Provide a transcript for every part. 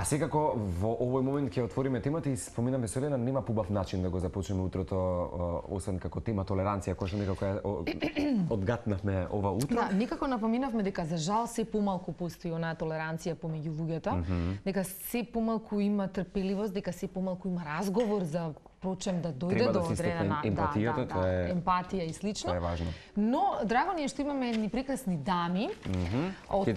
секако во овој момент ќе отвориме темата и споминаме со Елена, нема побав начин да го започнеме утрото освен како тема толеранција, која што некако одгатнавме ова утро. Да, никако напоминавме дека за жал се помалку постои онаа толеранција помеѓу луѓето, дека се помалку има трпеливост, дека се помалку има разговор за прочем да дојде до одредена емпатија и слично. Тоа е важно. Но драго ни е што имаме едни прекрасни дами од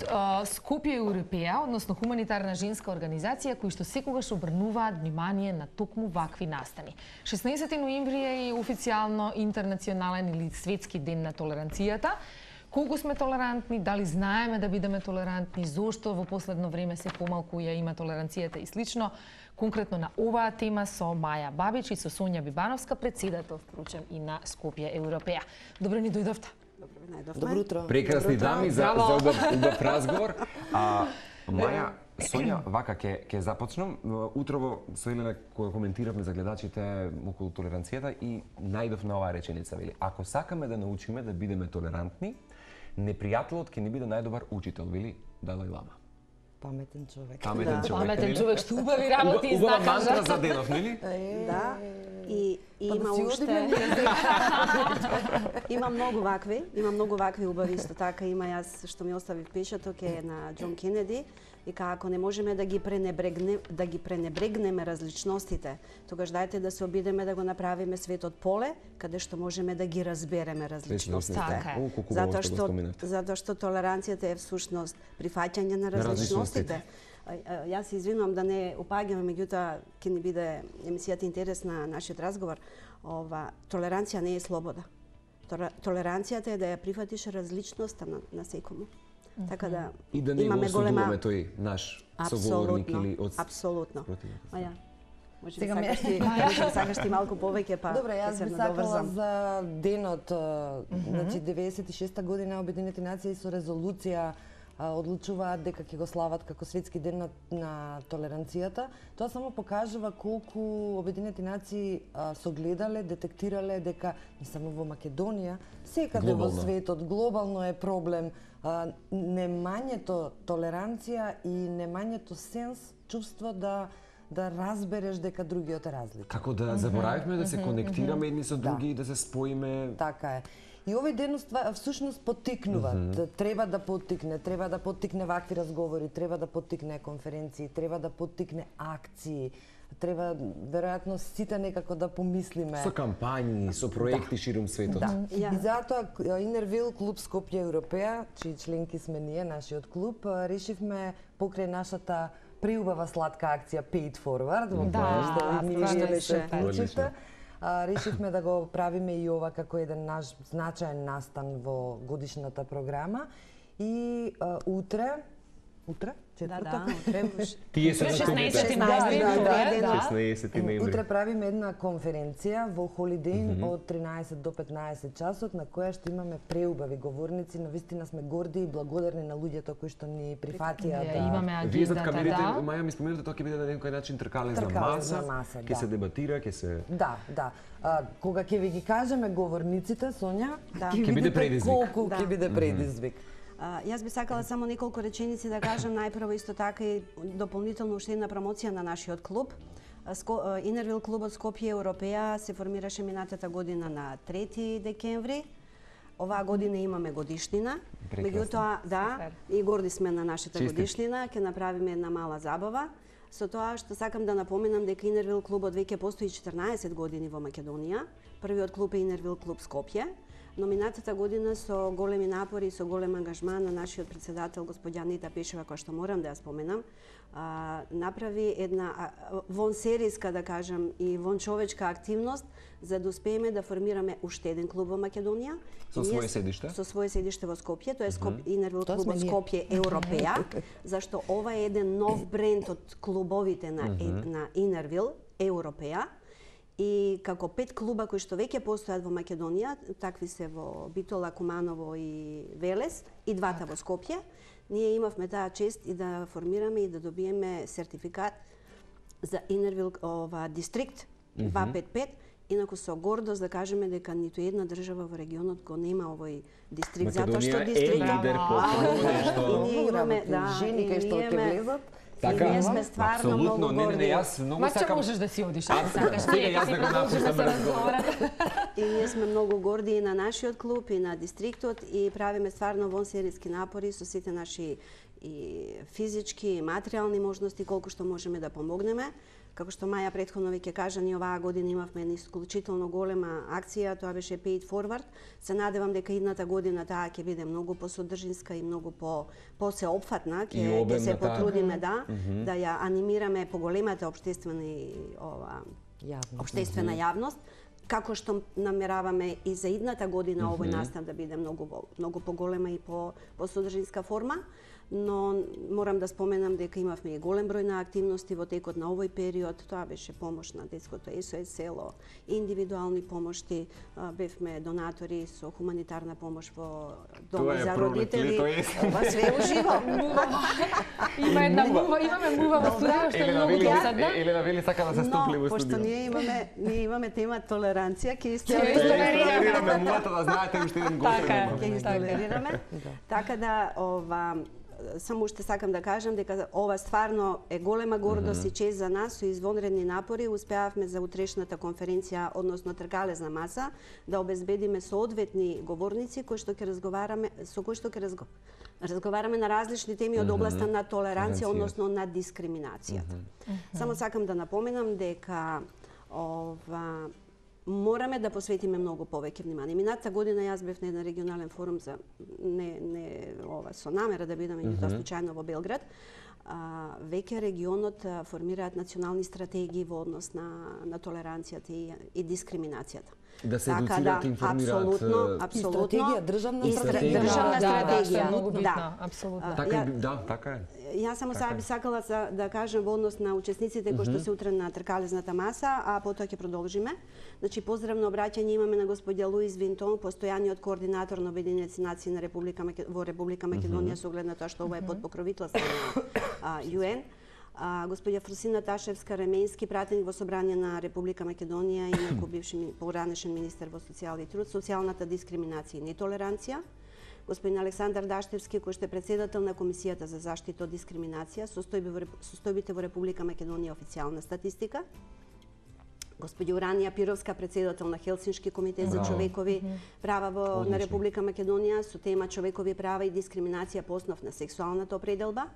Скопје Европеја, односно хуманитарна женска организација кои што секогаш обрнуваат внимание на токму вакви настани. 16 ноември е и официјално интернационален или светски ден на толеранцијата. Колку сме толерантни, дали знаеме да бидеме толерантни, зошто во последно време се помалку ја има толеранцијата и слично. Конкретно на оваа тема со Маја Бабич и со Сонја Бибановска, председател впрочем и на Скопје Европеја. Добро ни дојдовте. Добро ви најдовме. Добро утро. Прекрасни дами за убав разговор. Маја, Сонја, вака ќе започнам. Утрово со Елена кога коментиравме за гледачите околу толеранцијата и најдов на оваа реченица, вели: ако сакаме да научиме да бидеме толерантни, непријателот ќе ни биде најдобар учител, вели Далај Лама. Паметен човек. Паметен човек, што убави работи и убава мантра за денов, нели? Да. И има уште има многу вакви убави, исто така има јас што ми остави впечаток е на Џон Кенеди, вика ако не можеме да ги пренебрегнеме различностите, тогаш дајте да се обидеме да го направиме светот поле каде што можеме да ги разбереме различностите. Затоа што толеранцијата е всушност прифаќање на различностите. Јас се извинувам да не опаѓаме, меѓутоа ќе ни биде емисијата интересна нашиот разговор. Толеранција не е слобода. Толеранцијата е да ја прифатиш различноста на секому. Така да и да не го осудуваме тој наш соговорник или од апсолутно. Маја, може би сакаш ти малку повеќе па. Добре, јас би сакала за денот, значи 96-та година Обединетите нации со резолуција одлучуваат дека ќе го слават како светски ден на толеранцијата. Тоа само покажува колку Обединетите нации согледале, детектирале дека не само во Македонија, секаде во светот глобално е проблем немањето толеранција и немањето сенс, чувство да разбереш дека другиот е различен. Како да заборавивме да се конектираме едни со други и да се споиме. Така е. И овој ден всушност поттикнува, треба да поттикне вакви разговори, треба да поттикне конференции, треба да поттикне акции, треба веројатно сите некако да помислиме. Со кампањи, со проекти ширум светот. И затоа Инервил клуб Скопје Европеја, чии членки сме ние, нашиот клуб, решивме покрај нашата преубава сладка акција Paid Forward, во која што ние што се вклучивте. Решивме да го правиме и ова како еден наш значаен настан во годишната програма и утре, четврток, Тие се 16 ноември. Утре правиме една конференција во Холидејн од 13 до 15 часот на која што имаме преубави говорници, но вистина сме горди и благодарни на луѓето кои што ни прифатија да имаме Вие зад агендата, камерите, Маја ми споменате тоа ќе биде на некој начин тркалез на маса, ќе се дебатира, ќе се Да. Кога ќе ви ги кажеме говорниците, Сонја, ќе биде предизвик. Колку ќе биде предизвик. Јас би сакала само неколку реченици да кажам, најпрво исто така и дополнително уште една промоција на нашиот клуб. Инервил клубот Скопје Европеја се формираше минатата година на 3 декември. Оваа година имаме годишнина. Меѓутоа, и горди сме на нашата годишнина, ќе направиме една мала забава. Со тоа што сакам да напоменам дека Инервил клубот веќе постои 14 години во Македонија. Првиот клуб е Инервил клуб Скопје. Но минатата година со големи напори и со голем ангажман на нашиот председател господја Анита Пешева, која што морам да ја споменам, направи една вонсериска, да кажам, и вончовечка активност за да успееме да формираме уште еден клуб во Македонија. Со свое седиште? Со свое седиште во Скопје, тоа е Инервил клубот Скопје Европеја, зашто ова е еден нов бренд од клубовите на Инервил Европеја. И како 5 клуба кои што веќе постојат во Македонија, такви се во Битола, Куманово и Велес, и двата во Скопје, ние имавме таа чест и да формираме и да добиеме сертификат за Инервил дистрикт 255, инаку со гордост да кажеме дека ниту една држава во регионот го нема овој дистрикт, затоа што дистрикт е лидер по нешто. Ние имаме жени кои што ќе влезат. Така? И ние сме стварно многу горди. Не, јас многу Мача сакам. можеш да си одиш, ако сакаш. Сега јас да го напуштам разговор. И ние сме многу горди и на нашиот клуб и на дистриктот и правиме стварно вонсериски напори со сите наши и физички и материјални можности колку што можеме да помогнеме. Како што Маја претходно веќе кажа, ние оваа година имавме една исклучително голема акција, тоа беше Pay It Forward. Се надевам дека идната година таа ќе биде многу посодржинска и многу посеопфатна, ќе се потрудиме да ја анимираме поголемата општествена јавност, како што намераваме и за идната година овој настан да биде многу поголема и посодржинска форма. Но морам да споменам дека имавме и голем број на активности во текот на овој период. Тоа беше помош на детското СОС село, индивидуални помошти, бевме донатори со хуманитарна помош во дома за родители. Ова све уживо. Имаме мува во студио што е многу досадна. Елена вели сака да се стопли во студио. Пошто ние имаме тема толеранција, ќе истолерираме мувата да знаете уште еден гостин. Ќе истолерираме. Така да само уште сакам да кажам дека ова стварно е голема гордост и чест за нас. Со извонредни напори успеавме за утрешната конференција, односно тркалезна маса, да обезбедиме соодветни говорници со кои што ќе разговараме на различни теми од областа на толеранција, односно на дискриминацијата. Само сакам да напоменам дека мораме да посветиме многу повеќе внимание. Минатата година јас бев на еден регионален форум за со намера да бидам меѓутоа случајно во Белград. Веќе регионот формираат национални стратегии во однос на толеранцијата и дискриминацијата. Да се едуцираат и информираат. Апсолутно. Стратегија, државна стратегија. Државна стратегија, многу битна, апсолутно. Така е. Јас само сега би сакала да кажам во однос на учесниците кои што се утре на тркалезната маса, а потоа ќе продолжиме. Значи поздравно обраќање имаме на господја Луис Винтон, постојаниот координатор на Обединените нации на во Република Македонија со оглед на тоа што ова е под покровителство на ЮН. Господја Фрусина Ташевска-Ременски, пратеник во Собрание на Република Македонија, инаку бивши поранешен министер во социјал и труд, социјалната дискриминација и нетолеранција. Господин Александар Даштевски, кој што е председател на Комисијата за заштита од дискриминација, состојбите во Република Македонија официјална статистика. Господја Уранија Пировска, председател на Хелсиншки комитет за човекови права на Република Македонија, со тема човекови права и дискриминација по основ на сексуалната определба.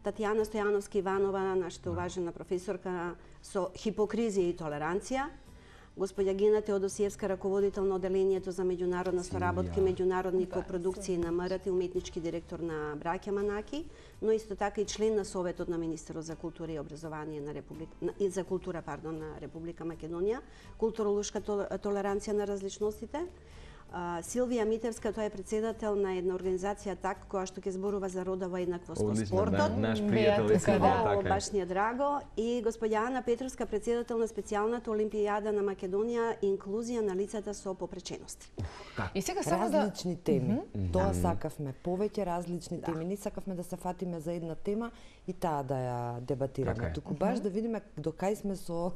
Татјана Стојановски Иванова, нашата уважена професорка со хипокризија и толеранција. Господја Гина Теодосиевска, раководител на Оделението за меѓународна соработка и меѓународни копродукции на МРТ, уметнички директор на Браќа Манаки, но исто така и член на Советот на Министерот за култура и образование на Република Македонија, културолошка толеранција на различностите. Силвија Митевска, тој е председател на една организација ТАК, која што ќе зборува за родова еднаквост во спортот. Наш пријател е Силвија, така. Баш ни е драго. И господја Ана Петровска, председател на специјалната Олимпијада на Македонија, инклузија на лицата со попречености. И сега само различни теми. Тоа сакавме, повеќе различни теми. Не сакавме да се фатиме за една тема и таа да ја дебатираме. Туку баш да видиме до кај сме со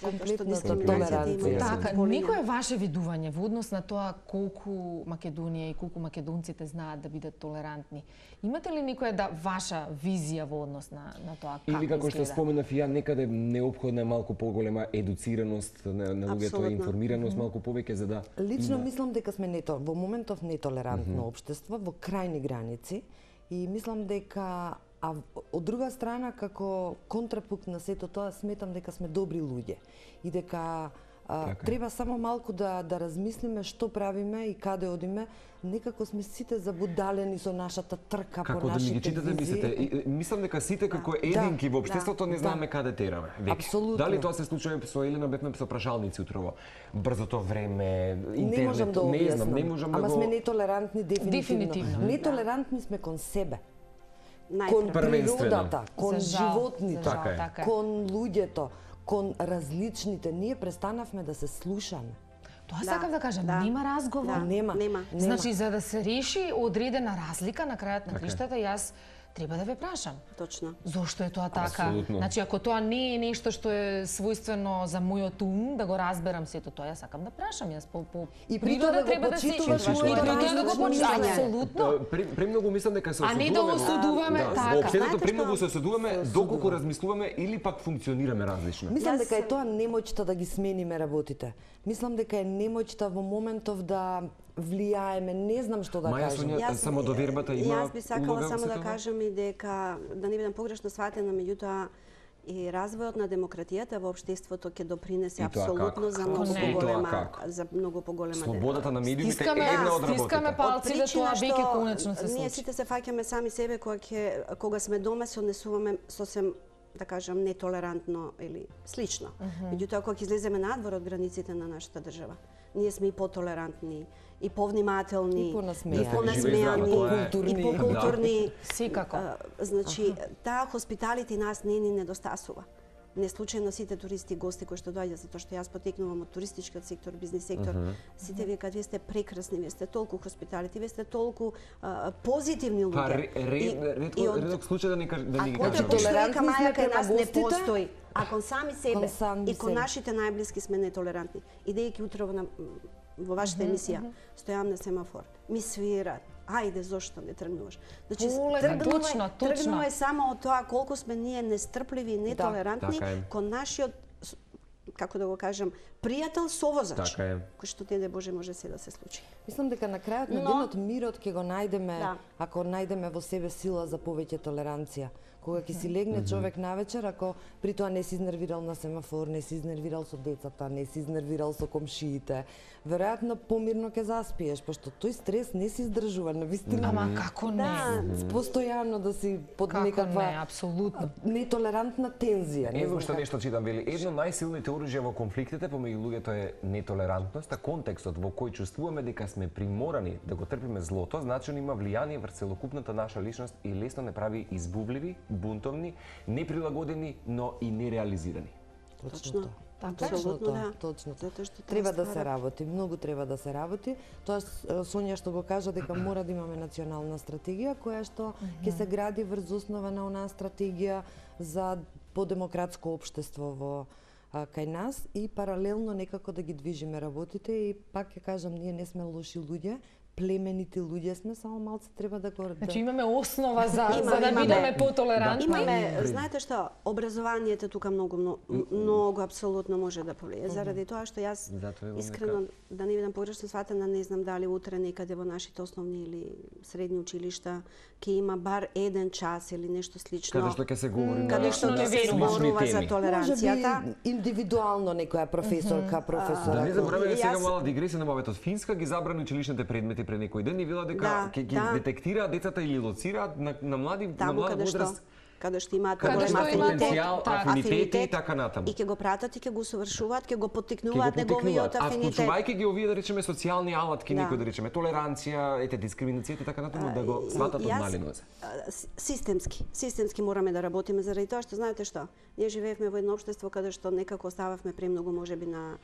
комплетната толеранција. Така, никое ваше видување во однос на тоа колку Македонија и колку македонците знаат да бидат толерантни. Имате ли никоја ваша визија во однос на тоа како изгледа? Или како што споменав ја, некаде неопходна е малку поголема едуцираност на луѓето, информираност малку повеќе за да лично мислам дека сме во моментов нетолерантно општество во крајни граници и мислам дека од друга страна како контрапункт на сето тоа сметам дека сме добри луѓе и дека треба само малку да размислиме што правиме и каде одиме. Некако сме сите забудалени со нашата трка по нашите визии. Мислите? Мислам дека сите како единки во општеството не знаеме каде тераме. Апсолутно. Дали тоа се случува со Елена, бевме со прашалници утрово? Брзото време, интернет, не можам да објаснам. не можам да го... Ама сме нетолерантни дефинитивно. Нетолерантни сме кон себе. Кон природата, кон животните, кон луѓето, кон различните. Ние престанавме да се слушаме. Тоа сакам да кажам, нема разговор. Нема. Значи, за да се реши одредена разлика на крајот на криштата, јас треба да ве прашам. Точно. Зошто е тоа така? Апсолутно. Значи, ако тоа не е нешто што е својствено за мојот ум, да го разберам сето тоа, јас сакам да прашам. Јас по И природа притоа да го треба да се... почитуваш И моето притоа да го различно почитуваш, мислење. апсолутно. Премногу мислам дека се А не да осудуваме, Да, така. во општеството Знаете премногу што? се осудуваме доколку размислуваме или пак функционираме различно. Мислам Јас дека е сам- тоа немоќта да ги смениме работите. Мислам дека е немоќта во моментов да влијаеме, не знам што да Маја, кажам. Сонја, самодовербата има Јас би сакала улога во само да сето тоа? кажам и дека, да не бидам погрешно сватена, меѓутоа и развојот на демократијата во општеството ќе допринесе И тоа апсолутно како? за Како многу не? И тоа поголема како? за многу поголема Слободата на медиумите е Стискаме, една од стискаме работите. палци да тоа веќе конечно се ние случи. сите се фаќаме сами себе кога сме дома се однесуваме сосем да кажам нетолерантно или слично. Меѓутоа кога ќе излеземе надвор од границите на нашата држава, ние сме и потолерантни, и повнимателни, И понасмејани. и понасмејани, Покултурни. и покултурни. Секако. Значи, таа хоспиталити нас не ни недостасува. Не случајно сите туристи и гости кои што доаѓаат, затоа што јас потекнувам од туристичкиот сектор, бизнис сектор, сите викаат вие сте прекрасни, вие сте толку хоспиталити, вие сте толку позитивни луѓе. Па редок случај да ни Ако кажа. тоа што вика толерантни Маја сме кај нас према не гостите, постои, а кон сами себе кон сами и кон себе. нашите најблиски сме нетолерантни. Идејќи утрово во вашата емисија, стојам на семафор, ми свират, ајде, зошто не тргнуваш? Значи, точно. тргнува е само од тоа колку сме ние нестрпливи и нетолерантни така е. кон нашиот, како да го кажам, пријател совозач, Така е. кој што не де Боже може се да се случи. Мислам дека на крајот на Но- денот мирот ќе го најдеме Да. ако најдеме во себе сила за повеќе толеранција. Кога ќе си легне човек навечер, ако при тоа не си изнервирал на семафор, не си изнервирал со децата, не си изнервирал со комшиите, веројатно помирно ќе заспиеш, пошто тој стрес не се издржува, навистина. Ама како не? Постојано да си под Како не, некаква апсолутно. нетолерантна тензија. Не Ево знам што како. нешто читам, вели, едно најсилните оружја во конфликтите помеѓу луѓето е нетолерантноста, контекстот во кој чувствуваме дека сме приморани да го трпиме злото, значено има влијание врз целокупната наша личност и лесно не прави избувливи, бунтовни, неприлагодени, но и нереализирани. Точно. Така е. Апсолутно да. Точно тоа. Затоа што Треба да ствара- се работи, многу треба да се работи. Тоа Сонја што го кажа дека мора да имаме национална стратегија која што ќе се гради врз основа на онаа стратегија за подемократско општество во кај нас и паралелно некако да ги движиме работите и пак ќе кажам ние не сме лоши луѓе, племенити луѓе сме, само малце треба да го Значи имаме основа за да Имаме. бидеме потолерантни. Имаме, знаете што, образованието тука многу апсолутно може да повлие. Заради тоа што јас Затоа имам искрено да не бидам погрешно сватена, не знам дали утре некаде во нашите основни или средни училишта ќе има бар еден час или нешто слично. Каде што ќе се говори на Каде што не ќе се верувам. зборува за теми. толеранцијата. Може би индивидуално некоја професорка, професор. Да не забораваме сега Јас- мала дигресија на моветот. Финска ги забрани училишните предмети пред некој ден и вела дека Да, ќе ги да. детектираат децата или лоцираат на млади на Таму млада каде што возраст. каде што имаат Каде поголем што имаат потенцијал, афинитети и така натаму. И ќе го пратат и ќе го усовршуваат, ќе го Ќе поттикнуваат го неговиот поттикнуваат. А афинитет. вклучувајќи ги овие да речеме социјални алатки, Да. некој да речеме толеранција, дискриминацијата и така натаму да го сватат од мали нозе. Системски мораме да работиме заради тоа што знаете што, ние живеевме во едно општество каде што некако остававме премногу можеби на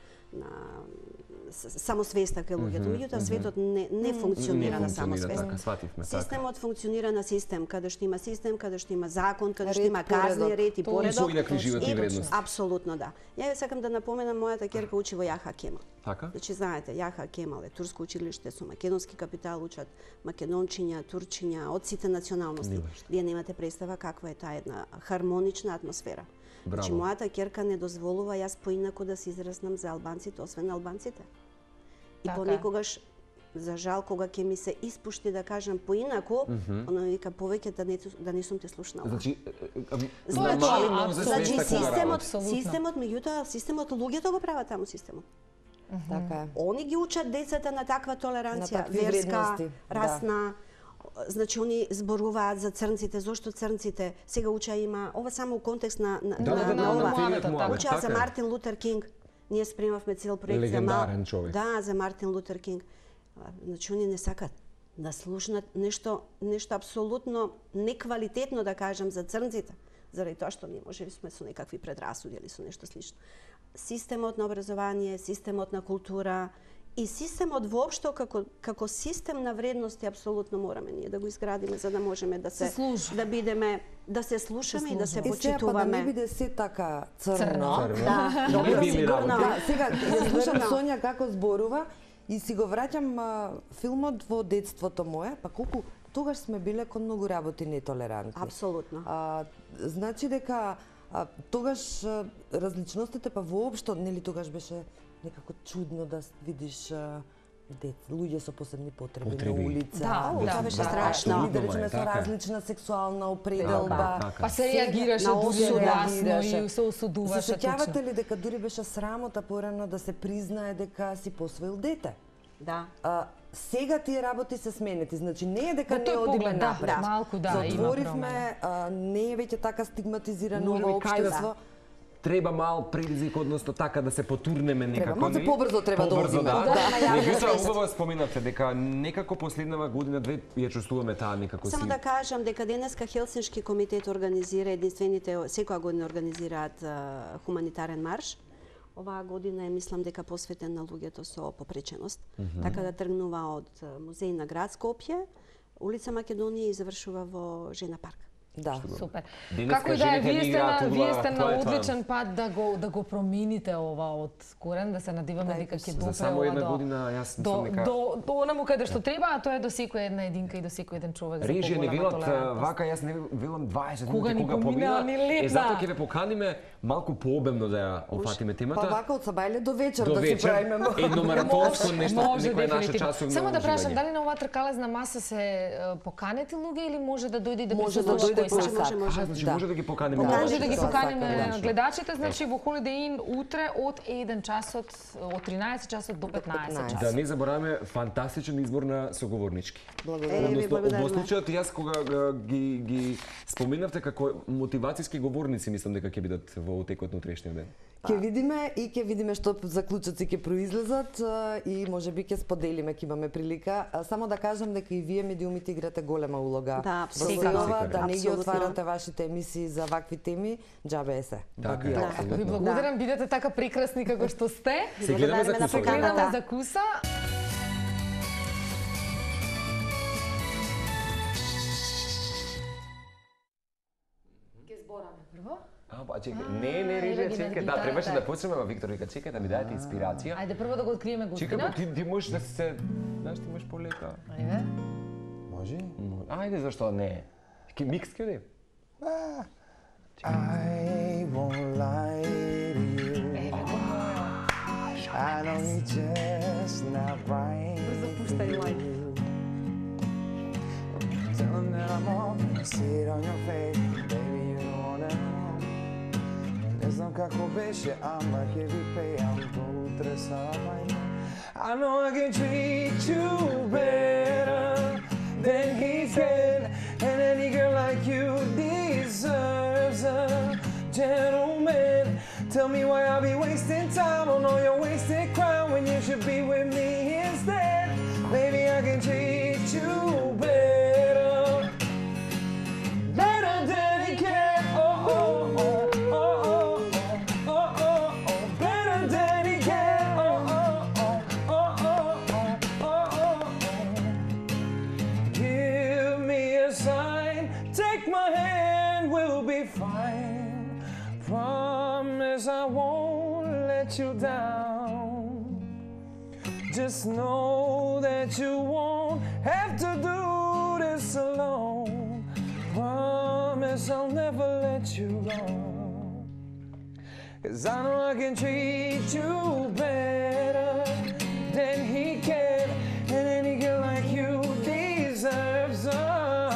самосвеста кај луѓето. Меѓутоа светот не функционира на самосвест. Така, свативме така. Системот функционира на систем, каде што има систем, каде што има закон, каде што Ред, има казни, поредок. ред и поредок. Поинакви животни И- вредности. Апсолутно да. Ја сакам да напоменам мојата ќерка учи во Јаха Кемал. Така? Значи, знаете, Јаха Кемал е турско училиште со македонски капитал, учат македончиња, турчиња, од сите националности. Вие немате представа каква е таа една хармонична атмосфера. Значи, Браво. мојата ќерка не дозволува јас поинаку да се изразнам за албанците, освен албанците. И Така. понекогаш, за жал, кога ќе ми се испушти да кажам поинаку, она ми вика повеќе да не сум те слушнала. Значи, Тоа на е мали тоа, нозе Значи, свеста кога работи. системот, меѓутоа, системот, луѓето го прават таму системот. Така е. Они ги учат децата на таква толеранција, На такви верска, вредности, да. расна. Значи, они зборуваат за црнците, зошто црнците, сега уча има, ова само у контекст на ова. муавето, така. Учеа за Мартин Лутер Кинг. Ние спремавме цел проект Легендарен човек. Да, за Мартин Лутер Кинг. Значи, они не сакат да слушнат нешто апсолутно неквалитетно, да кажам, за црнците. Заради тоа што ние можеби сме со некакви предрасуди или со нешто слично. Системот на образование, системот на култура И системот воопшто како систем на вредности апсолутно мораме ние да го изградиме за да можеме да се бидеме, да се слушаме и да се почитуваме. Па да не биде се така црно. Да, добро сигурно. Сега ја слушам Сонја како зборува и си го враќам филмот во детството мое, па колку тогаш сме биле кон многу работи нетолерантни. Апсолутно. Значи дека тогаш различностите па воопшто, нели тогаш беше некако чудно да видиш луѓе со посебни потреби на улица. Това беше страшно. Да речеме со различна сексуална определба. Па се реагираше дури гласно и се осудуваше. Се сеќавате ли дека дури беше срамота порано да се признае дека си посвоил дете? Да. Сега тие работи се сменети, значи не е дека не одиме напред. Малку да, затворивме, не е веќе така стигматизирано во општество. Треба мал предизвик, односно така да се потурнеме некако. Треба, малку побрзо треба да одиме. Меѓутоа, убаво споминавте дека некако последнава година-две ја чувствуваме таа некако си. Само да кажам дека денеска Хелсиншки комитет организира единствените, секоја година организираат хуманитарен марш. Оваа година мислам дека посветен на луѓето со попреченост. Така да тргнува од музеј на град Скопје, улица Македонија и завршува во Жена парк. Да, супер. Како и да е, вие сте на одличен пат да го промените ова од корен, да се надиваме дека ќе допре само една година, јас мислам дека до онаму каде што треба, а тоа е до секоја една единка и до секој еден човек за режија не велат вака, јас не велам 20 минути кога помина. Затоа ќе ве поканиме малку пообемно да ја опфатиме темата. Па вака од сабајле до вечер да си правиме едно маратонско нешто, некој наше часовно. Само да прашам, дали на оваа тркалезна маса се поканети луѓе или може да дојде и да присуствува? Може. Значи може да ги поканеме. Може да ги поканеме гледачите, значи во Holiday Inn утре од 1 часот, од 13 часот до 15 часот. Да не забораваме фантастичен избор на соговорнички. Благодарам. Во случајот јас кога ги споменавте како мотивацијски говорници, мислам дека ќе бидат во текот на утрешниот ден. Ќе видиме што заклучоци ќе произлезат и можеби ќе споделиме, ќе имаме прилика. Само да кажам дека и вие медиумите играте голема улога. Да, апсолутно. Да не ги отварате вашите емисии за вакви теми, џабе е се. Така. Ви благодарам, бидете така прекрасни како што сте. Се гледаме за куса. Гледаме за куса. Ке збораме прво. Па чекај, не режија, чекај, да, требаше да почнеме, ама Виктор вика, чекај да ми даде инспирација. Ајде прво да го откриеме гостинот. Чекај, ти можеш да се, знаеш, ти можеш полека. Ајде. Може? Ајде, зашто не? Микс ќе одим? I won't lie to you. I know you're just not right. Tell them that I'm on, see it on your face, baby, you don't wanna know. Не знам како беше, ама ќе ви пеам до утре сама. I know I can treat you better than he can, and any girl like you deserves a gentleman. Tell me why I'll be wasting time on all your wasted crime when you should be with me instead. Baby, I can treat you better, better than he can. Oh, oh, oh, oh, oh, oh, oh, oh, better than he can. Oh, oh, oh, oh, oh, oh, oh, oh. Give me a sign, take my hand, we'll be fine. Promise I won't let you down. Just know that you won't have to do this alone. Promise I'll never let you go. 'Cause I know I can treat you better than he can. And any girl like you deserves a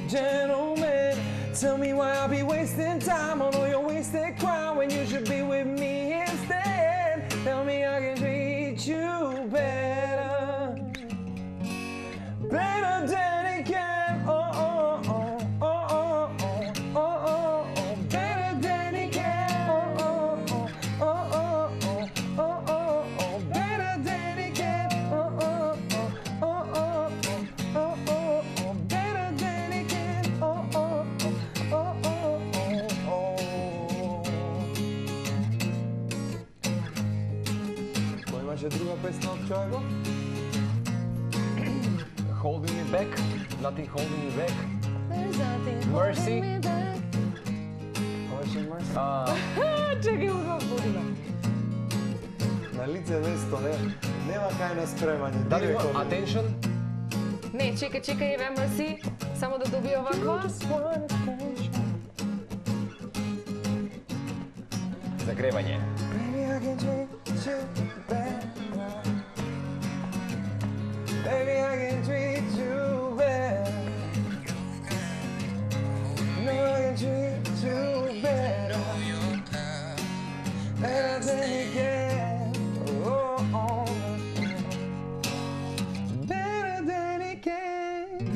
gentleman. Tell me why I'll be wasting time on all your wasted crime when you should be with me instead. Tell me I can treat you better, better than he can. Oh, oh, oh, oh, oh, oh, oh, oh, oh, better than he can. Oh, oh, oh, oh, oh, oh, oh, oh, better than he can. Oh, oh, oh, oh, oh, oh, oh, oh, better than he can. Oh, oh, oh, oh, oh, oh, oh. имаше друга песна од Чоего? Holding me back, nothing holding me back. There's nothing Mercy. holding me back. Беше Мерси. Чекай, го будиме. На лице место, нема кај на спремање. Дали директно. има attention? Не, чекај, еве Мерси, само да добие овако. Загревање. Baby, I can treat you better. Baby, I can treat you better. No, I can treat you better. Better than you can. Oh, oh. Better than you can.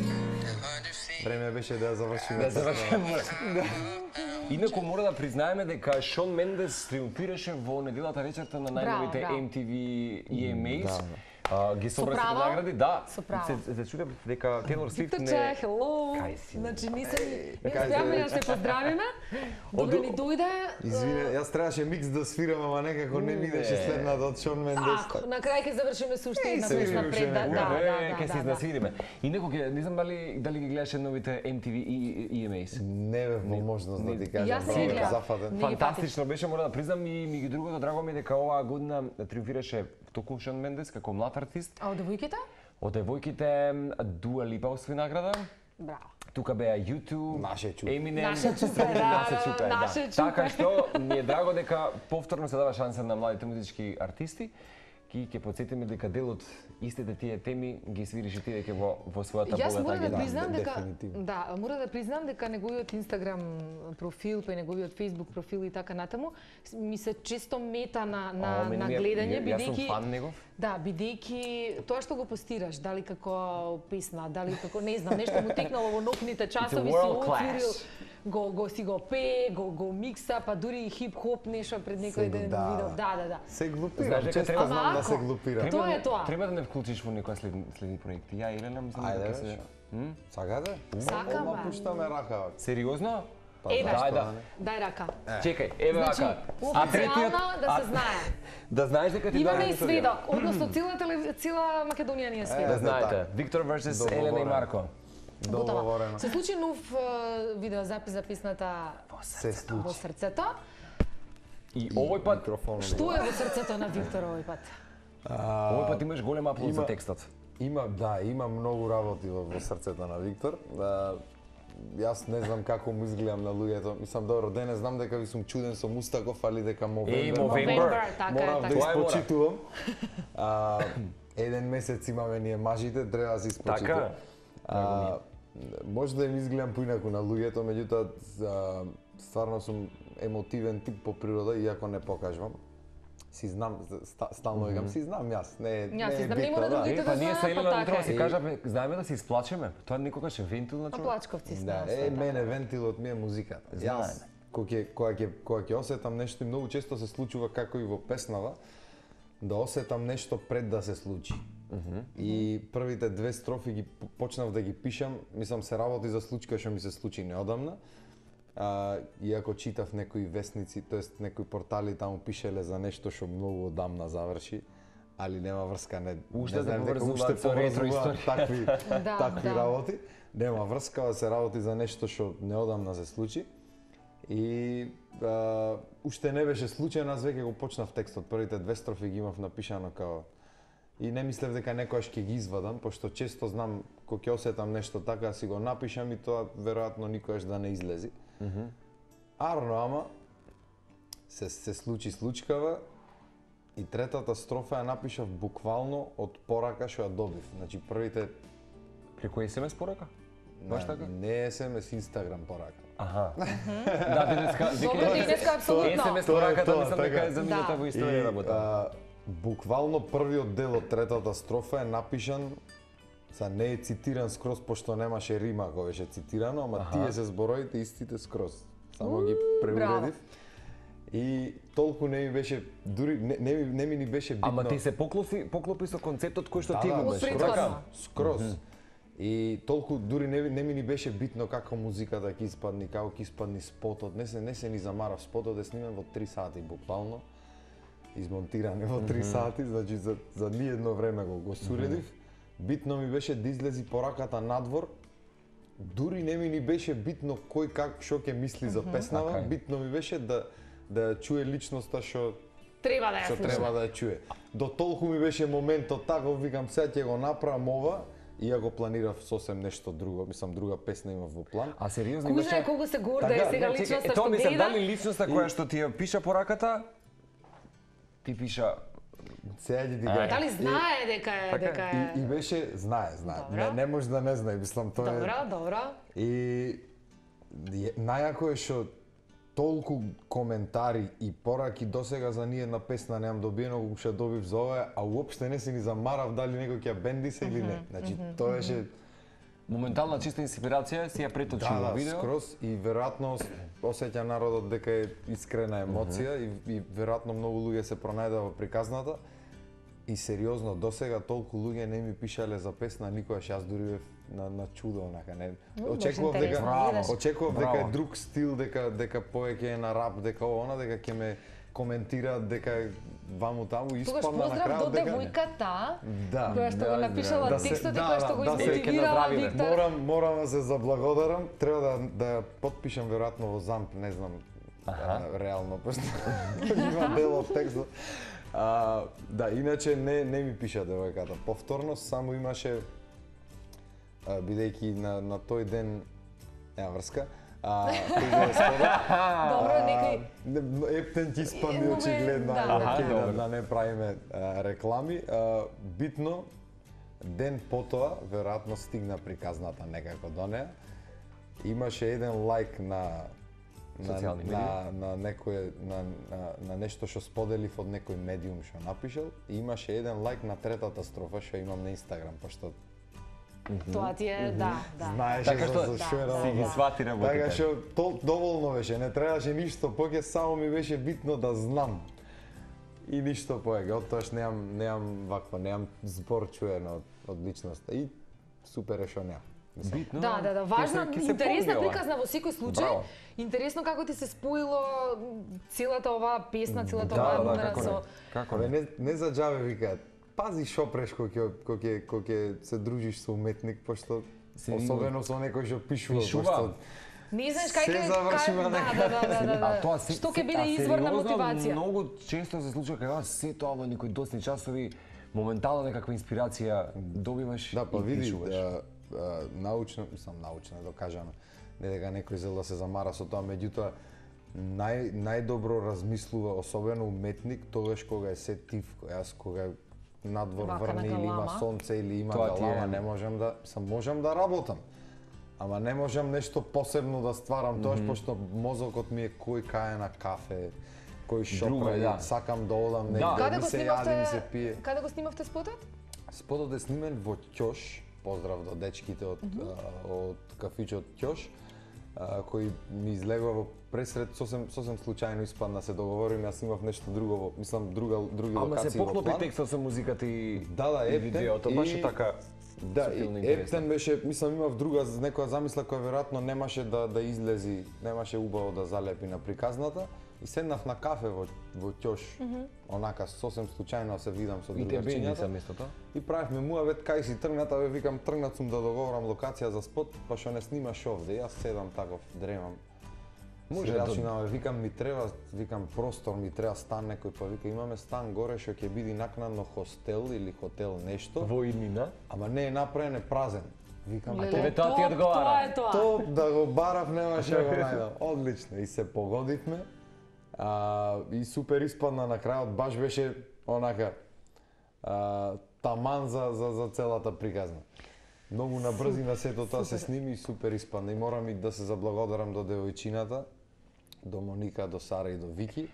Време беше да завршиме. Да завршиме. Инаку мора да признаеме дека Шон Мендес триумфираше во неделата вечерта на најновите браво. MTV EMAs. Ги собра право? сите награди, да. Со право. Се чудев дека Тейлор Свифт Викторче, не... хело. Кај си? Значи, ние Кај успеавме си? да се поздравиме. Добре ни дојде. Извине, јас требаше микс да свирам, ама некако не ми идеше следната од Шон Мендес. На крај ќе завршиме со уште една се песна видиме пред. уште Да, некоја. Ќе се изнасвириме. Инаку не знам дали ги гледаше новите MTV EMAs. Не бев во можност да ти кажам. Јас не браво, гледав. зафатен. Не ги Фантастично беше, мора да признам, и ми ги другото драго ми е дека оваа година триумфираше токму Шон Мендес како млад артист. А од девојките? Од девојките Дуа Липа освои награда. Браво. Тука беа U2, Наше чупе. Eminem, Наше чупе, да, наше да, чупе, наше да. чупе. Така што ми е драго дека повторно се дава шанса на младите музички артисти. Ќе потсетиме дека дел од истите тие теми ги свириш и ти дека во својата Јас богата мора да агенда. признам дека дефинитивно. мора да признам дека неговиот Инстаграм профил, па и неговиот Фејсбук профил и така натаму ми се често мета на гледање Јас сум бидејќи фан негов. да, бидејќи тоа што го постираш, дали како песна, дали како не знам, нешто му текнало во ноќните часови, си world отворил, class. го пее, го микса, па дури и хип-хоп нешто пред некој Се го ден дава. видов. Да. Се глупирам, Знаеш дека често треба- знам Ама да се ако- глупирам. Тоа е тоа. Треба да не вклучиш во некоја следни проекти. Ја Елена мислам Ајде, дека се бе. Сакате? Сакам, Одма бе. пуштаме рака. сериозно? Еве, Дај да. дај рака. Чекај, еве Значи, вака. официјално да се знае. Да знаеш дека ти Имаме дадам и историја. сведок, односно цела Македонија ни е Да сведок. знаете, така. Виктор versus Елена и Договорено. Марко. Готово. Договорено. Се случи нов видеозапис за песната Се во случи. срцето. И овој пат, Што е во срцето на Виктор овој пат? овој пат имаш голем аплод за има- текстот. Има многу работи во срцето на Виктор. Јас не знам како му изгледам на луѓето. Мислам, добро, денес знам дека ви сум чуден со Мустаков, али дека Мовембер. Мовембер. така е, Морав да така. Тоа е мора. испочитувам. Еден месец имаме ние мажите, треба да се испочитувам. Така. Може да им изгледам поинаку на луѓето, меѓутоа стварно сум емотивен тип по природа, иако не покажувам. Си знам, стално викам, си знам јас, не е Јас си знам, не битно, мора да. другите Па да ние знаат, се па Елена така утрава е. си кажаме, знаеме да се исплачеме. Тоа никогаш е вентил на А човек. плачковци сме. Да, освен мене така. вентилот ми е музиката. Знаеме. Јас кога ќе осетам нешто и многу често се случува како и во песнава, да осетам нешто пред да се случи. И првите две строфи ги почнав да ги пишам, мислам се работи за случка што ми се случи неодамна. Иако читав некои весници, тоест некои портали таму пишеле за нешто што многу одамна заврши, али нема врска, Уште не да знаем дека поврзуваат уште со ретро поврзуваат историја. такви Да. работи. Нема врска, да се работи за нешто што неодамна се случи. И уште не беше случајно, аз веќе го почнав текстот, првите две строфи ги имав напишано као и не мислев дека некојаш ќе ги извадам, пошто често знам кога ќе осетам нешто така, си го напишам и тоа веројатно никогаш да не излези. Арно, ама се случи случкава и третата строфа ја напишав буквално од порака што ја добив. Значи првите Преку SMS порака? Баш така? не SMS, Инстаграм порака. Аха. Да, денеска, Добро, денеска апсолутно. SMS Тоа е пораката тоа, мислам така. дека е замината Да. во историја работа. Буквално првиот дел од третата строфа е напишан, не е цитиран скроз, пошто немаше рима кога беше цитирано, ама тие се зборовите истите скроз. Само ги преуредив. И толку не ми беше, дури не ми ни беше битно. Ама ти се поклопи со концептот кој што ти го Од имаш. претходно. Скроз. И толку дури не ми ни беше битно како музиката ќе испадни, како ќе испадни спотот. Не се ни замарав, спотот е снимен во 3 сати буквално. измонтирани во 3 сати, значи за ниедно време го суредив. Битно ми беше да излези пораката надвор. Дури не ми ни беше битно кој как што ќе мисли за песнава, битно ми беше да чуе личноста што Треба да ја што слуша. треба да ја чуе. До толку ми беше моментот тако, викам сега ќе го направам ова, иако планирав сосем нешто друго, мислам друга песна имав во план. А сериозно Кој знае колку се горда е сега личноста што тоа мислам, гледа? дали личноста која што ти ја пиша пораката, ти пиша Сега ќе ти кажам. Дали знае дека е... И беше, знае. Добро. Не може да не знае, мислам тоа е. Добро. И најако е што толку коментари и пораки досега за ниедна песна немам добиено, колку што добив за ова, а уопште не се ни замарав дали некој ќе ја бенди се или не. Значи тоа беше моментална чиста инспирација, си ја преточи во видео. скроз и веројатно осеќа народот дека е искрена емоција и веројатно многу луѓе се пронајдоа во приказната. И сериозно, досега толку луѓе не ми пишале за песна, никогаш јас дури бев на чудо, онака, не. Очекував дека е друг стил, дека повеќе е на рап, дека она, дека ќе ме коментираат, дека ваму таму испадна на крајот дека девојката да, која што го напишала текстот и која што го да, измотивирала да, Виктор. Морам да се заблагодарам, треба да потпишам веројатно во ЗАМП, не знам реално, пошто има дел од текстот. Да, иначе не ми пиша девојката. Повторно само имаше бидејќи на тој ден нема врска. Добро, некој Ептен ќе испадне очигледно, да не правиме реклами. Битно, ден потоа, веројатно стигна приказната некако до неа. Имаше еден лайк на некој на нешто што споделив од некој медиум што напишал и имаше еден лайк на третата строфа што имам на Инстаграм, пошто тоа ти е, да. знаеше Така што за што е си ги свати работите. Така што доволно беше, не требаше ништо поќе, само ми беше битно да знам. И ништо повеќе, од тоаш немам збор чуено од личноста и супер е што немам. Битно. Да, важна, интересна приказна во секој случај. Браво. Интересно како ти се споило целата оваа песна, целата оваа номера со... Како не? Не за џабе викаат. Пази шо преш кој ќе се дружиш со уметник, пошто особено со некој што пишува, пошто не знаеш кај се завршува да. Што ќе биде извор на мотивација? Многу често се случува кога се тоа во некои досни часови моментално некаква инспирација добиваш да, па и види, пишуваш. научно докажано, не дека некој зел да се замара со тоа, меѓутоа најдобро размислува, особено уметник, тогаш кога е се тивко. Јас кога надвор врне или има сонце или има галама, не можам да работам. Ама не можам нешто посебно да стварам, тоаш пошто мозокот ми е кој кај на кафе, кој шопра, сакам да одам негде, ми се јади, ми се пие. Каде го снимавте спотот? Спотот е снимен во Ќош, поздрав до дечките од кафичот Ќош, кој ми излегува во пресред, сосем случајно испадна, се договориме, јас имав нешто друго, мислам други локации во план. Ама се поклопи текстот со музиката и видеото, баш така. Да, Ептен беше, мислам имав друга некоја замисла која веројатно немаше да излези, немаше убаво да залепи на приказната и седнав на кафе во Ќош, онака сосем случајно се видам со другарчињата. И правевме муавет кај си тргната, викам тргнат сум да договорам локација за спот, па што не снимаш овде. Јас седам таков, дремам. Може да викам ми треба, викам простор, ми треба стан некој, па вика имаме стан горе што ќе биде накнадно хостел или хотел нешто. Во иднина? Ама не е направен, е празен. Викам, тоа ти одговара. Тоа да го барав немаше да го најдам. Одлично и се погодивме. И супер испадна на крајот, баш беше онака таман за целата приказна. Многу набрзина сето тоа се сними и супер испадна. И морам и да се заблагодарам до девојчината, до Моника, до Сара и до Вики.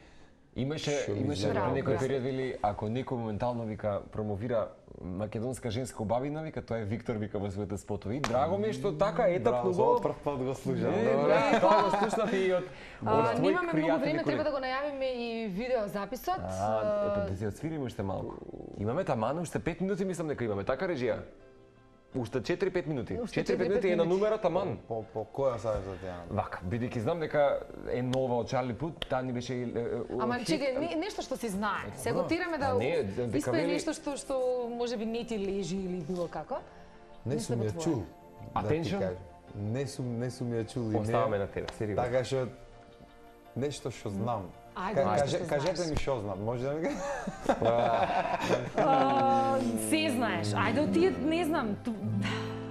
Имаше некој период вели, ако некој моментално вика промовира македонска женска убавина, вика тоа е Виктор, вика во своите спотови. Драго ми е што така етапно го прв пат го слушам. Тоа го слушнав и од твои немаме многу време, пријатели. треба да го најавиме и видеозаписот. Епа да си отсвириме уште малку. Имаме таман уште 5 минути, мислам дека имаме, така режија? Уште 4-5 минути. Уште 4-5 минути е на номерот, аман. По која саѓа ти ја? Вака, бидејќи знам дека е нова од Чарли Пут, таа ни беше Ама чекај, нешто што си знае. Се готираме да испее нешто што можеби не ти лежи или било како. Не сум ја чул. Attention? Не сум ја чул. Оставаме на тебе, сериозно. Така што нешто што знам. Кажете ми што знам, може да ми Се знаеш. Ајде ти не знам.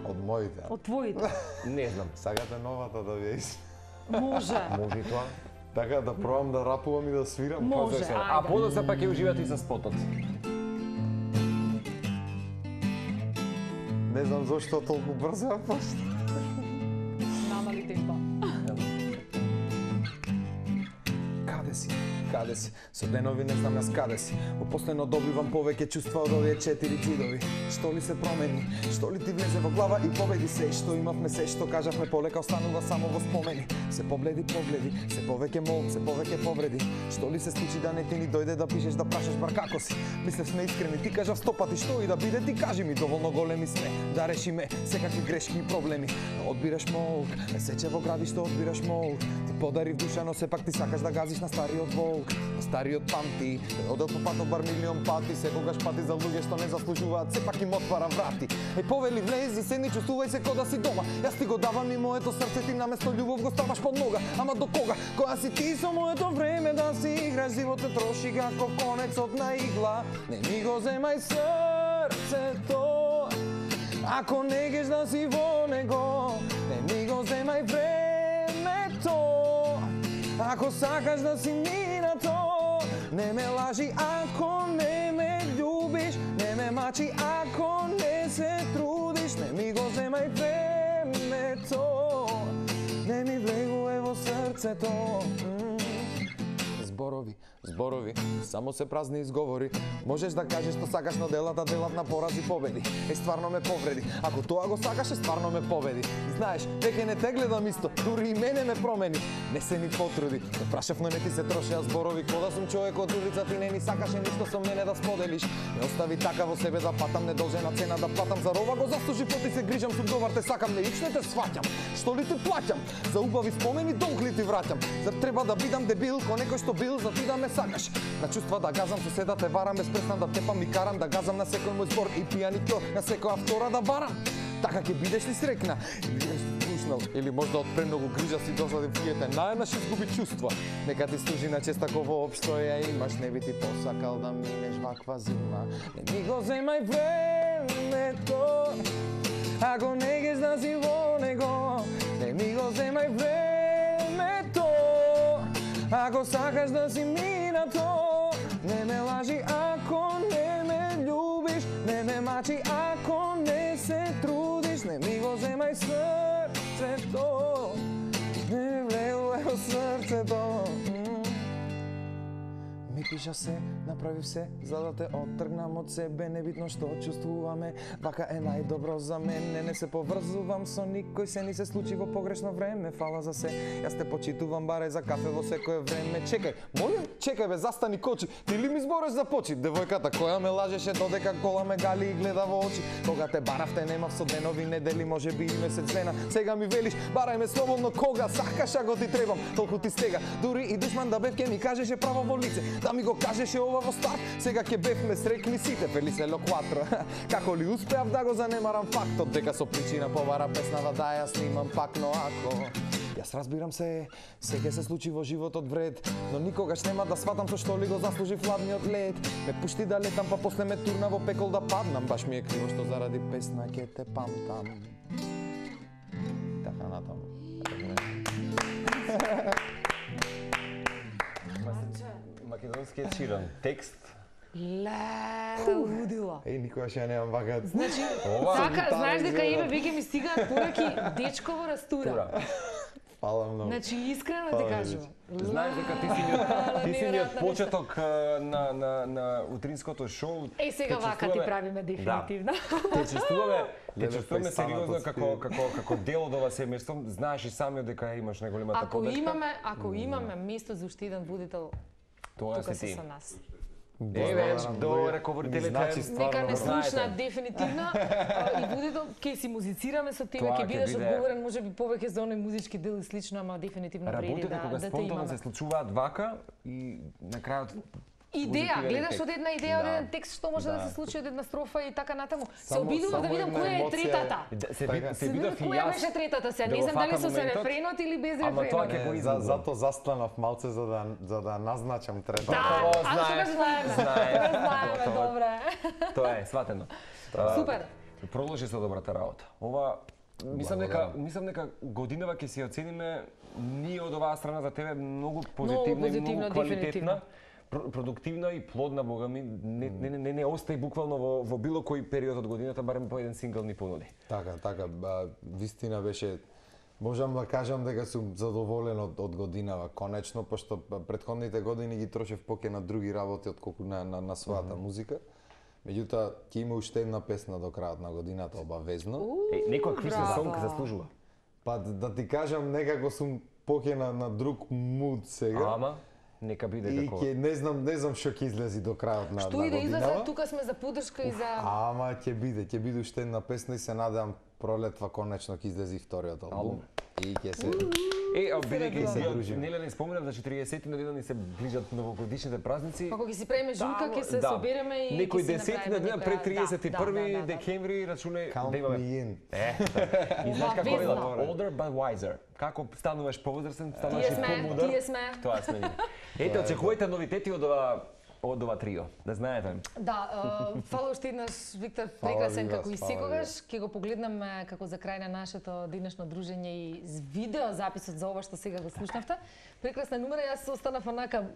Од моите. Од твоите. Не знам. Сагате новата да ви Може. Може и тоа. Така да пробам да рапувам и да свирам. Може, А ајде. подоцна пак ќе уживате и со спотот. Не знам зошто толку брзо ја почна. Намали темпо. Каде си? Со денови не знам јас каде си. Опоследно добивам повеќе чувства од овие 4 ѕидови. Што ли се промени? Што ли ти влезе во глава и победи се? Што имавме се, што кажавме полека останува само во спомени. Се погледи, се повеќе мол, се повеќе повреди. Што ли се случи да не ти ни дојде да пишеш да прашаш бар како си? Мислев сме искрени, ти кажав 100 пати што и да биде, ти кажи ми доволно големи сме да решиме секакви грешки и проблеми. Одбираш молк, не сече во градиште одбираш молк. Ти подарив душа, но сепак ти сакаш да газиш на стариот волк. На стариот памти, одел по патот бар милион пати, секогаш пати за луѓе што не заслужуваат, сепак им отвара врати. Повели влези, седни, чувствувај се кода си дома. Јас ти го давам и моето срце, ти наместо љубов го ставаш под нога. Ама до кога? Која си ти со моето време да си играш, животот троши како конецот на игла. Не ми го земај срцето, ако не геш да си во него. Не ми го земај времето, ако сакаш да си минато. Не ме лажи ако не ме љубиш, не ме мачи ако не се трудиш. Не ми го земај времето, не ми влегуве во срцето. Зборови, само се празни изговори. Можеш да кажеш што сакаш, но делат на порази победи. Стварно ме повреди. Ако тоа го сакаше, стварно ме победи. Знаеш, веќе не те гледам исто, дури и мене ме промени. Не се ни потруди. Те прашав, но не ти се трошеа зборови. Кода сум човек од улица, ти не ни сакаше ништо со мене да споделиш. Не остави така во себе да патам, недолжена цена да платам. За рова го заслужи, поти се грижам, сум добар, те сакам, не ичне те сваќам. Што ли ти плаќам? За убави спомени долг ли ти враќам? Зар треба да бидам дебил, ко некој што бил, за ти да ме сакаш? На чувства да газам, соседа те варам, без престан да тепам и карам, да газам на секој мој збор и пијаникјо, на секоја втора да барам. Така ќе бидеш ли срекна? Или можда од премногу грижа си досади вијете, најнаш изгуби чувства. Нека ти служи на чест ако воопшто ја имаш, не би ти посакал да минеш ваква зима. Не ми го земај времето, ако не геш да си во него. Не ми го земај времето, ако сакаш да си минато. Не ме лажи ако не ме љубиш, не ме мачи ако не се трудиш. Не ми го земај срцето, не ми влегуве во срцето. Ми пиша се, направив се, за да те оттргнам од себе, небитно што чувствуваме, вака е најдобро за мене, не се поврзувам со никој, се ни се случи во погрешно време, фала за се, јас те почитувам баре за кафе во секое време. Чекај, молим, чекај бе, застани кочи, ти ли ми збореш за почит, девојката која ме лажеше додека кола ме гали и гледа во очи, кога те баравте немав со денови, недели, може би и месец дена, сега ми велиш, барај ме слободно кога сакаш, ако ти требам, толку ти стега, дури и душман да бев ке ми кажеше право во лице, да ми го кажеше ова во старт, сега ќе бевме срекни сите, Фелисело 4. Како ли успеав да го занемарам фактот, дека со причина повара песнава да ја снимам пак, но ако јас разбирам се ќе се случи во животот вред, но никогаш нема да сватам со што ли го заслужи владниот лед. Ме пушти да летам, па после ме турна во пекол да паднам, баш ми е криво што заради песна ќе те памтам. Така натаму. Македонскиот ширан текст. Лудила. Никогаш ја немам вака. Значи, така, знаеш дека еве веќе ми стигаат пораки дечково растура. Фала многу. Значи, искрено ти кажувам. Знаеш дека ти си ни од почеток на утринското шоу. Сега вака ти правиме дефинитивно. Те чувствуваме сериозно како дел од ова семејство. Знаеш и самиот дека имаш најголемата подршка. Ако имаме место за уште еден водител, тоа тука си се ти. со нас. Добре, говорителите. Нека не слушна дефинитивно и будете ќе си музицираме со тебе, ќе бидеш одговорен можеби повеќе за оној музички дел и слично, ама дефинитивно преди да те кога спонтано се случуваат вака и на крајот идеја, гледаш од една идеја, од еден текст што може да се случи од една строфа и така натаму. Се обидувам да видам која е третата. Се видов и јас. Која беше третата сега? Не знам дали со рефренот или без рефренот. Зато застанав малце за да назначам третата. Да, а знаеме, добре. Тоа е, сватено. Супер. Продолжи со добрата работа. Ова мислам дека годинава ќе се оцениме ние од оваа страна за тебе многу позитивна и многу квалитетна. Продуктивна и плодна, бога ми, не остаи буквално во било кој период од годината, барем по еден сингл ни понуди. Така, вистина беше, можам да кажам дека сум задоволен од годинава, конечно, пошто претходните години ги трошев поќе на други работи отколку на својата музика. Меѓутоа, ќе има уште една песна до крајот на годината, обавезно. Некоја Christmas сонг заслужува. Па да ти кажам, некако сум поќе на друг муд сега. Ама? Нека биде како. И не знам што ќе излези до крајот на годинава. Што и да излезе, тука сме за поддршка и за Ама ќе биде уште една песна и се надевам пролетва конечно ќе излези вториот албум. И ќе се бидејќи се дружиме. Нели не спомнав за 40 на дена ни се ближат новогодишните празници. Ако ќе си правиме журка, ќе се собереме и некој 10 на дена пред 31 декември рачунај да имаме. И знаеш како е older but wiser. Како стануваш повозрасен, стануваш и помудар. Тие сме. Тоа сме. Ете, очекувајте новитети од ова трио, да знаете. Да, фала уште еднаш, Виктор, прекрасен како и секогаш. Ќе го погледнаме како за крај на нашето денешно дружење и видео записот за ова што сега го слушнавте. Прекрасна номера, јас останав онака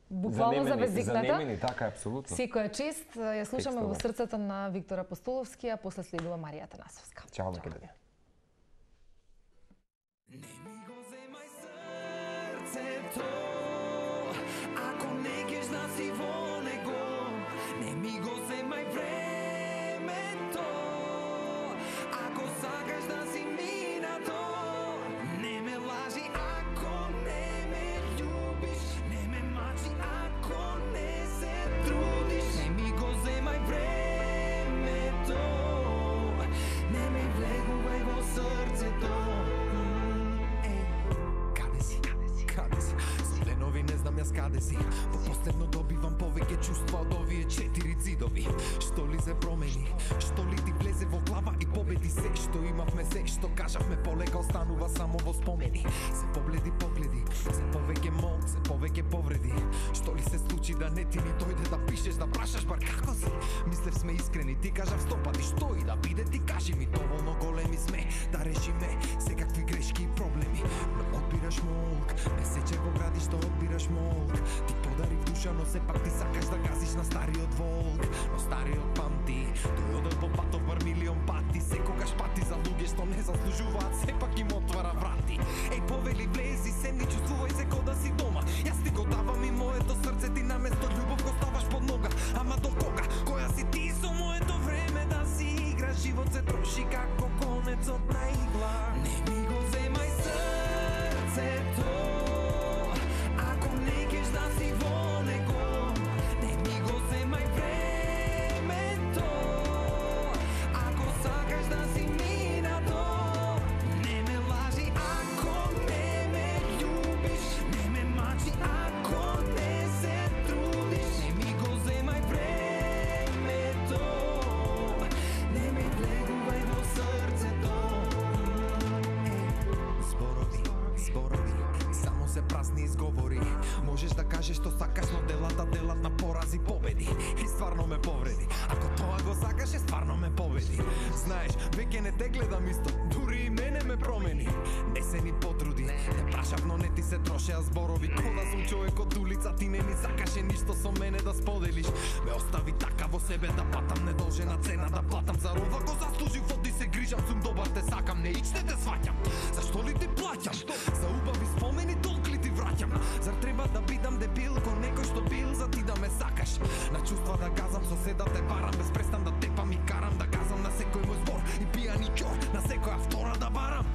буквално завезикната. Занемени, така е, апсолутно. Секоја чест, ја слушаме во срцето на Виктор Апостоловски, а после следува Марија Танасовска. Чао, Македонија. Не ми го земај срцето, ако не геш да си во него. Не ми го земај времето, ако сакаш да си минато. Не ме лажи ако не ме љубиш, не ме мачи ако не се трудиш. Не ми го земај времето, не ми влегувај во срцето. Не знам јас каде си, постепно добивам повеќе чувства од овие 4 зидови. Што ли се промени, што ли ти влезе во глава и победи се што имавме, се што кажавме полека останува само во спомени. Се погледи, се повеќе мок, се повеќе повреди. Што ли се случи да не ти ни дојде да пишеш, да прашаш бар како си? Мислев сме искрени, ти кажав стопати, што и да биде, ти кажи ми, доволно големи сме да решиме секакви грешки и проблеми. Но одбираш молк, не сече во гради што одбираш молк. Ти подарив душа, но сепак ти сакаш да газиш на стариот волк. Но стариот памти, тој одел по патов бар милион пати. Секогаш пати за луѓе што не заслужуваат, сепак им отвара врати. Еј, повели, влези, седни, чувствувај се ко да си дома. Јас ти го давам и моето срце, ти наместо љубов го ставаш под нога. Ама до кога? Која си ти со моето време да си играш? Живот се троши како конецот на игла. Не ми го земај срцето, ако не геш да си во него. Не ми го земај времето, ако сакаш да си минато. Не ме лажи ако не ме љубиш, не ме мачи ако не се трудиш. Не ми го земај времето, не ми влегувај во срцето. Зборови, само се празни изговори. Можеш да кажеш што сакаш, но делата делат на порази победи. И стварно ме повреди. Ако тоа го сакаше, стварно ме победи. Знаеш, веќе не те гледам исто, дури и мене ме промени. Не се ни потруди, не прашав, но не ти се трошеа зборови. Кода сум човек од улица, ти не ни сакаше ништо со мене да споделиш. Ме остави така во себе да патам, недолжена цена да платам. За ова го заслужив, оди се грижам, сум добар, те сакам, не ичте те сваќам. Зашто ли ти плаќам? За убави спомени толк ли ти враќам? Зар треба да бидам дебил ко некој што бил за ти да ме сакаш? На чувства да газам, соседа те барам, без престан да тепам и карам, да газам на секој мој збор и пијани ќор, на секоја втора да барам.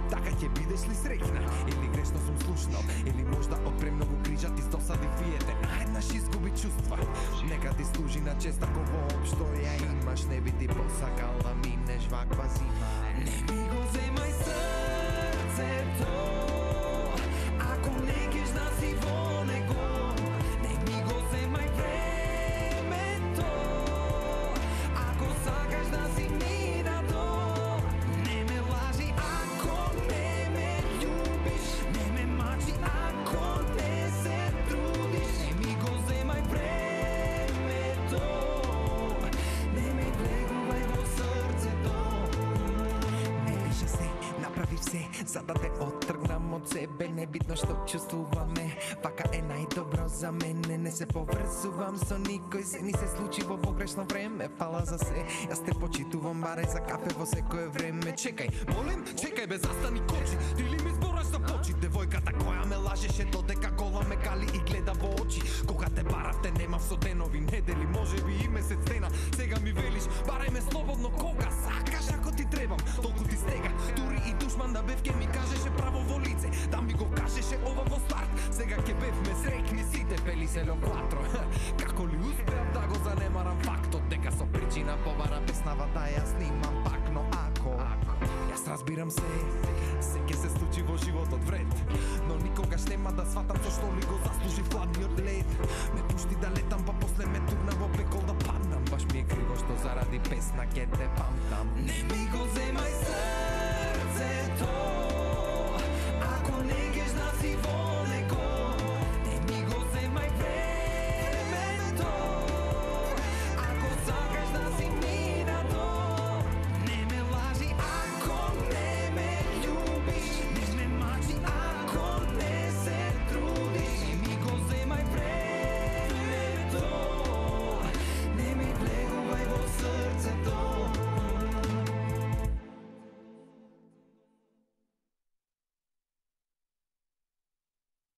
Така ќе бидеш ли среќна? Или грешно сум слушнал? Или можда од премногу грижа ти стосади фиете? Наеднаш изгуби чувства. Нека честа ко воопшто ја имаш, не би ти посакал да минеш ваква зима. Не ми го земај срцето, ако не кеш да си во него. Не ми го земај времето, ако сакаш да си минато. Не ме лажи ако не ме љубиш, не ме мачи ако не се трудиш. Не ми го земај времето, не ме влегувај во срцето. Не пише се, направи се, за да те оттргнам од себе. Небитно што чувствуваме, вака е најдобро за мене. Не се поврзувам со никој, се ни се случи во погрешно време. Фала за се, јас те почитувам баре за кафе во секое време. Чекај, молим, чекај бе, застани кочи. Ти ли ми збораш за почит? Девојката која ме лажеше додека кола ме кали и гледа во очи. Кога те баравте немав со денови, недели, можеби и месец дена. Сега ми велиш, барај ме слободно кога сакаш, ако ти требам. Толку ти стега, дури и душман да бев ке ми кажеше право во лице, да ми го кажеше ова во старт. Сега ке бевме среќни сите, пели се ло 4. Како ли успеав да го занемарам фактот дека со причина побара песнава да ја снимам пак, но ако јас разбирам се ке се случи во животот вред, но никогаш нема да сватам со што ли го заслужи хладниот лед. Ме пушти да летам, па после ме турна во пекол да паднам. Баш ми е криво што заради песна ке те памтам. Не ми го земај срцето, ако не геш да си во